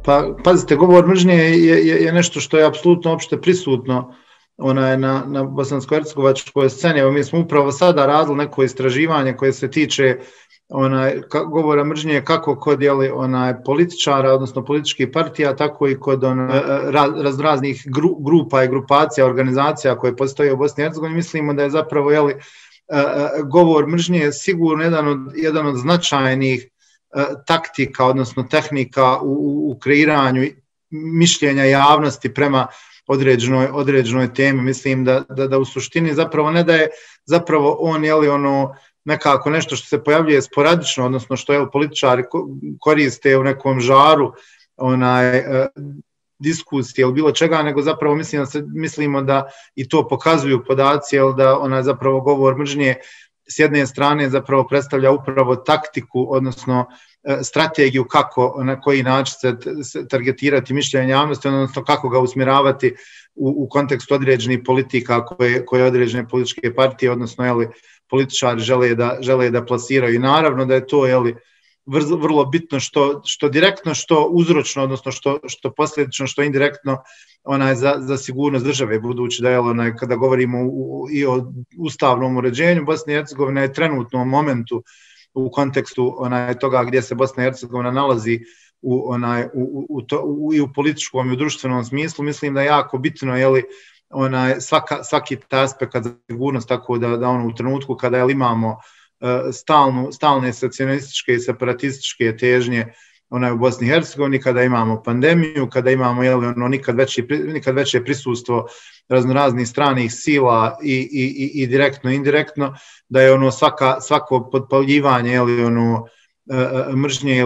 Pa pazite, govor mržnje je nešto što je apsolutno opšte prisutno na bosansko-hercegovačkoj sceni. Evo, mi smo upravo sada radili neko istraživanje koje se tiče govora mržnje kako kod političara, odnosno političkih partija, tako i kod raznih grupa i grupacija, organizacija koje postoje u Bosni i Hercegovini. Mislimo da je zapravo govor mržnje sigurno jedan od značajnih taktika, odnosno tehnika u kreiranju mišljenja javnosti prema određenoj temi. Mislim da u suštini zapravo ne da je zapravo on nekako nešto što se pojavljuje sporadično, odnosno što političari koriste u nekom žaru diskusije ili bilo čega, nego zapravo mislimo da i to pokazuju podaci, da zapravo govor mržnje s jedne strane zapravo predstavlja upravo taktiku, odnosno strategiju kako, na koji način se targetirati mišljenje javnosti, odnosno kako ga usmjeravati u kontekstu određenih politika koje određene političke partije, odnosno političari žele da plasiraju. I naravno da je to vrlo bitno što direktno, što uzročno, odnosno što posljedično, što indirektno za sigurnost države, budući da kada govorimo i o ustavnom uređenju, Bosna i Hercegovina je trenutno u momentu u kontekstu toga gdje se Bosna i Hercegovina nalazi i u političkom i u društvenom smislu. Mislim da je jako bitno svaki aspekt za sigurnost, tako da u trenutku kada imamo stalne secesionističke i separatističke težnje u Bosni i Hercegovini, kada imamo pandemiju, kada imamo nikad veće prisustvo raznoraznih stranih sila i direktno i indirektno, da je svako podpaljivanje mržnje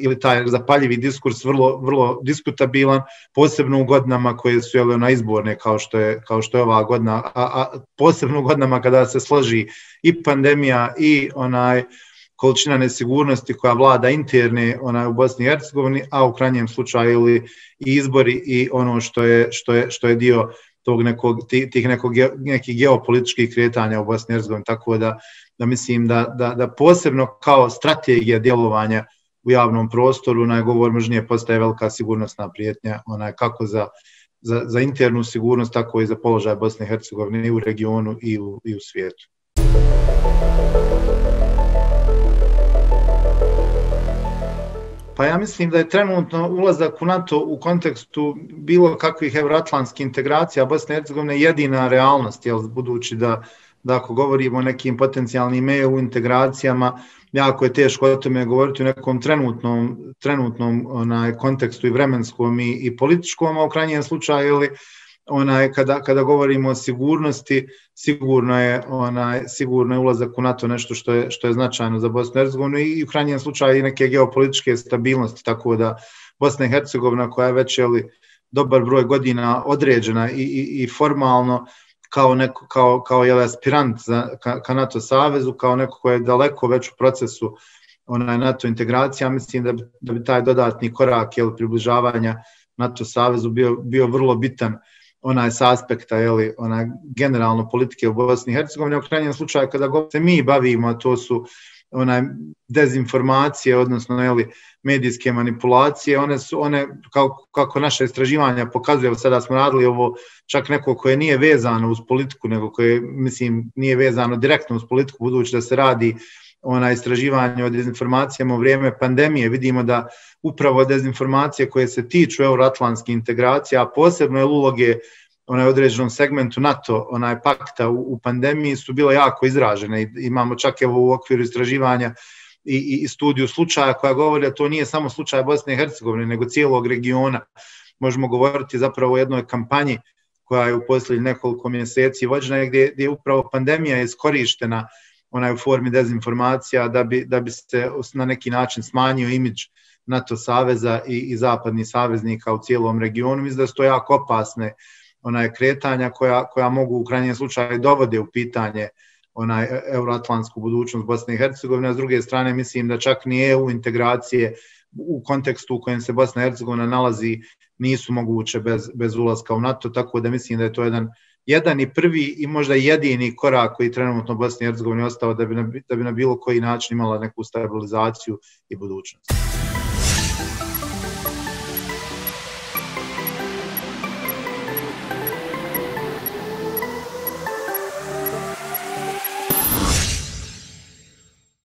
ili taj zapaljivi diskurs vrlo diskutabilan, posebno u godinama koje su izborne kao što je ova godina, a posebno u godinama kada se složi i pandemija i količina nesigurnosti koja vlada interne u Bosni i Hercegovini, a u krajnjem slučaju i izbori i ono što je dio tih nekih geopolitičkih kretanja u Bosni i Hercegovini, tako da mislim da posebno kao strategija djelovanja u javnom prostoru govor mržnje postaje velika sigurnosna prijetnja, kako za internu sigurnost, tako i za položaj Bosne i Hercegovine i u regionu i u svijetu. Pa ja mislim da je trenutno ulazak u NATO u kontekstu bilo kakvih evroatlantskih integracija Bosne i Hercegovine jedina realnost, budući da ako govorimo o nekim potencijalnim EU integracijama, jako je teško o tome govoriti u nekom trenutnom kontekstu i vremenskom i političkom, a u krajnjem slučaju kada govorimo o sigurnosti, sigurno je ulazak u NATO nešto što je značajno za Bosnu i Hercegovinu i u krajnjem slučaju i neke geopolitičke stabilnosti, tako da Bosna i Hercegovina koja je već dobar broj godina određena i formalno kao aspirant ka NATO savezu, kao neko ko je daleko već u procesu NATO integracija, mislim da bi taj dodatni korak približavanja NATO savezu bio vrlo bitan s aspekta generalno politike u Bosni i Hercegovini. U krajnjem slučaju kada se mi bavimo, a to su dezinformacije, odnosno medijske manipulacije, one kako naše istraživanja pokazuju, sada smo radili ovo čak neko koje nije vezano uz politiku, nego koje, mislim, nije vezano direktno uz politiku, budući da se radi istraživanje o dezinformacijama u vrijeme pandemije. Vidimo da upravo dezinformacije koje se tiču euroatlantskih integracija, a posebno uloge određenom segmentu NATO, pakta u pandemiji su bile jako izražene. Imamo čak u okviru istraživanja i studiju slučaja koja govori da to nije samo slučaj Bosne i Hercegovine, nego cijelog regiona. Možemo govoriti zapravo o jednoj kampanji koja je u posljednjih nekoliko mjeseci vođena, gdje je upravo pandemija iskorištena u formi dezinformacija da bi se na neki način smanjio imidž NATO saveza i zapadnih saveznika u cijelom regionu. Mislim da su to jako opasne kretanja koja mogu u krajnjem slučaju dovode u pitanje euroatlantsku budućnost Bosne i Hercegovine. A s druge strane mislim da čak ni EU integracije u kontekstu u kojem se Bosna i Hercegovina nalazi nisu moguće bez ulaska u NATO, tako da mislim da je to jedan i prvi i možda jedini korak koji trenutno Bosni i Hercegovini ostao da bi na bilo koji način imala neku stabilizaciju i budućnost.